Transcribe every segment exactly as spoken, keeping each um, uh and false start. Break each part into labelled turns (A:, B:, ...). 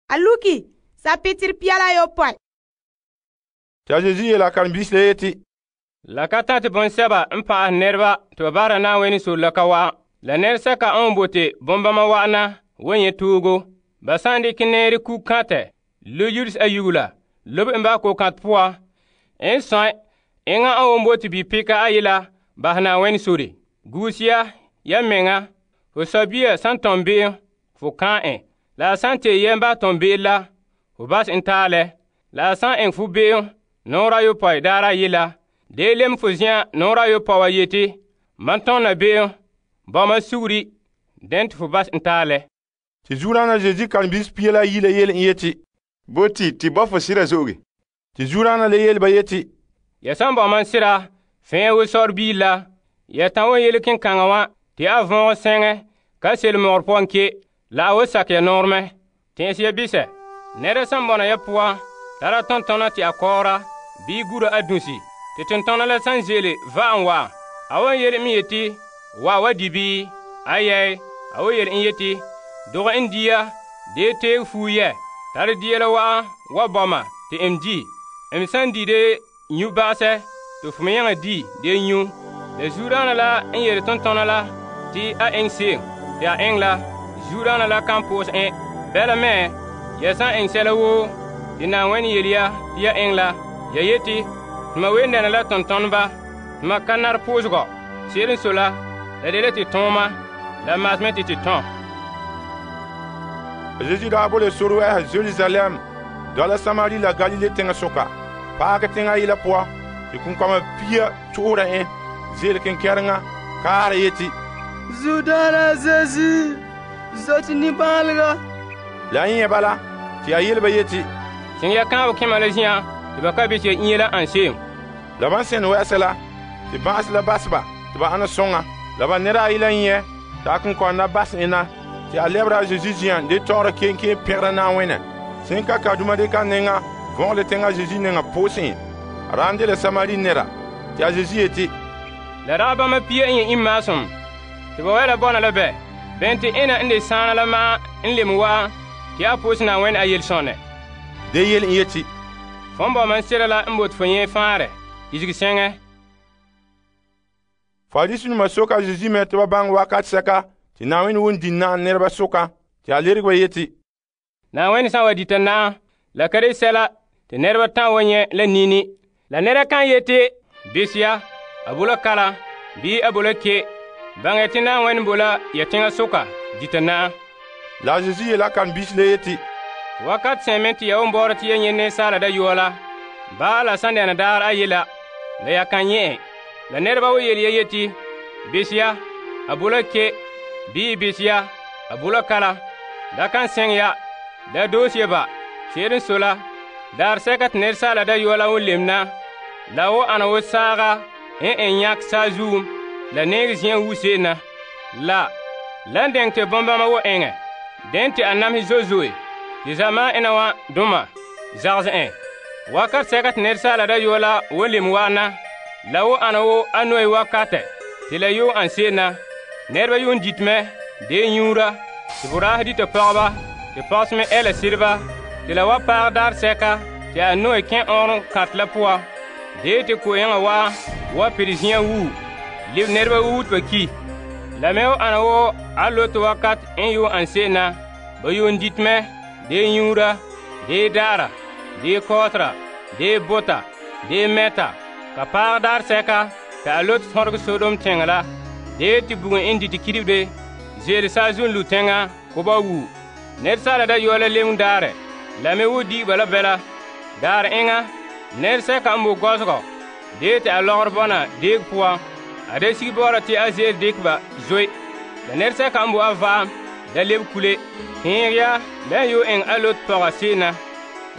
A: A luki sapitiri pia la ayopɔe.
B: Te a Yesu yela karen-biisi la yeti,
C: La ka tãte bɔŋsɛba n pa'ahɛ nɛreba te ba bahera Na'ayenɛ sore la ka wa'an. La nɛresɛka n bote bonbama wa'ana wan nyɛ toogo. Ba san dekɛ nɛɛre kukantɛ lo yires ayugula lobe en ba kokantɛ poan, n sɔn enŋa n wan bote bipeka ayela bahɛ Na'ayenɛ sore. Guuse ya ya mɛŋa, ho sɔbia san tɔn be'em, fo kan' en. La a san tee yɛm ba tɔn be'em la, ho bas en taalɛ. La a san eŋɛ fo be'em nɔɔrɛ ayopɔe daarɛ ayela, dee lem fo zen'an nɔɔrɛ ayopɔe wa yeti, mam tɔnna be'em, bɔma suguri, dene te fo bas en taalɛ.
B: Te zuodaana Yesu karen-biisi pia la yi la yele en yeti,
D: Boti te bɔ fo sira zo'oge.
B: te zuodaana la yele ba yeti,
C: Ya san bɔ mam sira, fɛn wo sɔrebiile la, ya tan wo yele kenkaŋa wa te a vɔɔgɔ sɛŋɛ ka sele mɔgɔrɛ pɔgɔn ke, la a wo sakɛ ya nɔɔrɛ mɛ. Tɛn'ɛse ya bisɛ, nɛra san bɔna ya poan tara tɔntɔna te a kɔɔra bii gura a dunsi, te tontɔna la san ze'ele va'am wa, a wan yele en yeti, wa wa di bii? Ayɛɛ, a wan yele en yeti, dogɛ en dia, dee teeg fuu yɛ, tare dia la wa'an wa bɔma te em di. Em san di de nyu bagasɛ, te fo me nyaŋa di de nyu. La zuodaana la n yele tontɔna la te a eŋɛ se'em, te a eŋɛ la, zuodaana la kan po'ose en. Bɛla mɛ, ya san eŋɛ sɛla woo te Na'ayenɛ yele ya te ya eŋɛ la, ya yeti, tuma wen dɛna la tontɔnba, tuma ka nare po'osegɔ. Se'ere n sɔe la, la dela te tɔɔma, la maasmɛ te te tɔn.
B: Yesu daa bo le sore wɛ'ɛhe Jerusalem dɔla Samari la Galile teŋa soka. Paagɛ teŋa ayela poan, te kunkama pia tu'ura en ze'ele kenkɛreŋa kaara yeti,
E: Zuodaana Zeezi, zɔti nimbaalega.
B: la n nyɛ bala, te a yele ba yeti,
C: Seŋ ya kãabo kẽma la zin'an te ba ka bete inya la an se'em.
B: la ban sẽn wɛ'ɛsɛ la, te bã'as la bas ba te ba ana sõŋa. La ba nɛra ayi la nyɛ t'a kunkɔnda bas ena, te a lɛbera a Yesu zian de tɔgɔra kenkeen pɛgera Na'ayenɛ. Sẽn ka kaduma de ka nɛŋa vɔgele teŋa Yesu nɛŋa pʋʋsẽ. A raan de la Samari nɛra, te a Yesu yeti,
C: La dagɛ bãmba pia n yẽ imaasum, te ba wɛ la bɔna la bɛ, bɛn te ena n de sãana la ma'an n lem wa'an te a pʋʋsɛ Na'ayenɛ a yelesɔnɛ.
B: de yele en yeti,
C: Fõn bɔ man sera la n bote fo yẽ fãarɛ, izigi sɛŋɛ.
B: Farisinima soka Yesu mɛ tɩ ba baŋɛ wakat sɛka tɩ Na'ayenɛ won di na'am nɛreba soka, tɩ a lereg ba yeti,
C: Na'ayenɛ san wa dita na'am, la ka de sɛla te nɛreba tãn wa nyɛ la nini. La nɛra kan yeti, bes ya, a bo la kalam, bii a bo la ke, baŋɛ te Na'ayenɛ bo la ya teŋa soka dita na'am.
B: la a Yesu yeela karen-biisi la yeti,
C: Wakat sẽn tɩ ya won baoora tɩ ya nyɛ nensaala dayɔa la, baa la san dɛna daar ayela, la ya kan nyɛ en. La nɛreba wa yele ya yeti, bes ya, a bo la ke, bii bes ya, a bo la kalam, da kan sẽng ya, da doos ya ba. Se'ere n sɔe la, daar sɛka tɩ nensaala dayɔa la won lemna, la wo ana wo saaga n en yãk saazuum, la neeg zĩ'an wuse na. La, la n dɛŋ tɩ bõn-bãmba wo eŋɛ, dẽn tɩ a namsɛ zoe-zoe, tɩ zamaan ena wã dʋma zagsɛ en. Wakat sɛka tɩ nensaala dayɔa la won lem wa'ana, la wo ana wo a noe wakatɛ, tɩ la yuun an se'em na. Nɛreba yuun dit mɛ, dee nyuura, tɩ boraasɛ dita pɔgba, tɩ pɔgse me ɛla sɩdba, tɩ la wa paag daar sɛka tɩ a noe kẽ ɔɔrɔn kãt la pʋga, dee tɩ ko-yẽngã wa wa pɩd zĩ'an wuu, leb nɛreba wuut ba ki. La me wo ana wo a lote wakat n yuun an se'em na, ba yuun dit mɛ, dee nyuura, dee daara, dee kɔɔtera, dee bota, dee mɛta, ka paag daar sɛka tɩ a lot fõrg Sodom tẽngã la, dee tɩ bugum n dɩtɩ kidbde, zeele saazuun lu tẽngã ko ba wuu. Nɛresaala dayɔa la lem daarɛ, la me wo di'ba la bɛla. Daar eŋa, nɛresɛka n bo gɔsgɔ, dee tɩ a lɔgr bɔna deeg poan, a da sig bɔɔra tɩ a zeel dɩk ba zoe. La nɛresɛka n bo a vaam, da leb kule, kẽeg ya la n yo eŋ a lot pɔga se'ena.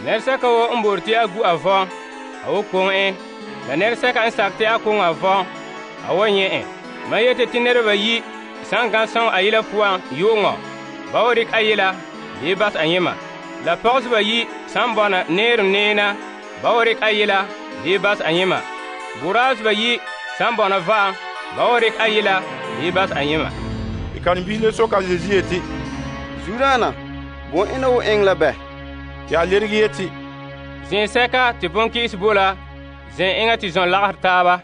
C: Nɛresɛka wo n bor tɩ a gu a vɔn, a wo koŋ en. La nɛresɛka n sak tɩ a koŋ a vɔn, a wa nyɛ en. Mam yete tɩ nɛreba yi sãn gãn sõng a yela puan yʋʋngɔ, ba wa rɩk a yela dee bas a yẽma. La pɔgsba yi sãn bɔna neerem neena, ba wa rɩk a yela dee bas a yẽma. Boraasba yi sãn bɔna va'am, ba wa rɩk a yela dee bas a yẽma.
B: tɩ karen-biisi le soka Yesu yeti,
E: Zuodaana, bõn ena wo eŋɛ la bɛ?
B: Te a lerege yeti,
C: Zẽensɛka te bon-kɩ'ɩs bo la, zẽn enŋa te zɔn lagahɛ taaba.